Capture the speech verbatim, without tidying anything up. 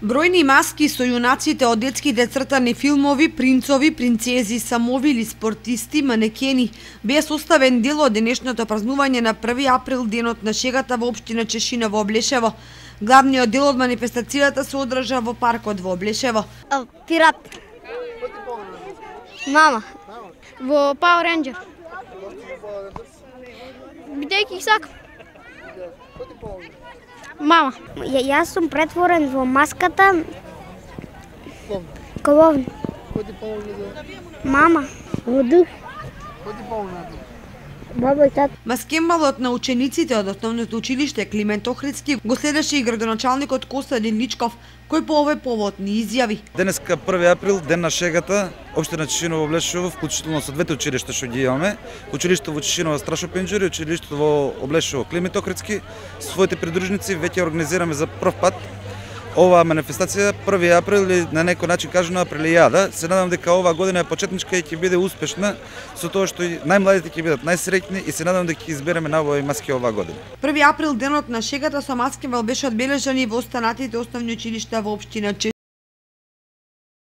Бројни маски со јунаците од детските цртани филмови, принцови, принцези, самови или спортисти, манекени, беа составен дел од денешното празнување на први април, денот на шегата во општина Чешина во Облешево. Главниот дел од манифестацијата се одржа во паркот во Облешево. Пират. Мама. Во Power Ranger. Бидејќи сакам. Мама. Ја, јас сум претворен во маската. Коловни. Мама. Во дух. Баба и тата. Маскембалот на учениците од основното училиште Климент Охридски го следеше и градоначалникот Костадин Личков, кој по овој повод ни изјави. Денеска први април, ден на шегата, општина Чешина во Облешево, вклучително со двете училишта што ги имаме, училиштето во Чешина Страшо Пенџури, училиштето во Облешево Климент Охридски, своите придружници веќе организираме за прв пат оваа манифестација први април, или на некој начин кажано априлијада. Се надам дека оваа година е почетничка и ќе биде успешна со тоа што и најмладите ќе бидат најсреќни и се надам дека ќе избереме најубави маски оваа година. први април, денот на шегата со маскембал беше одбележан и во останатите основни училишта во општина Чешина.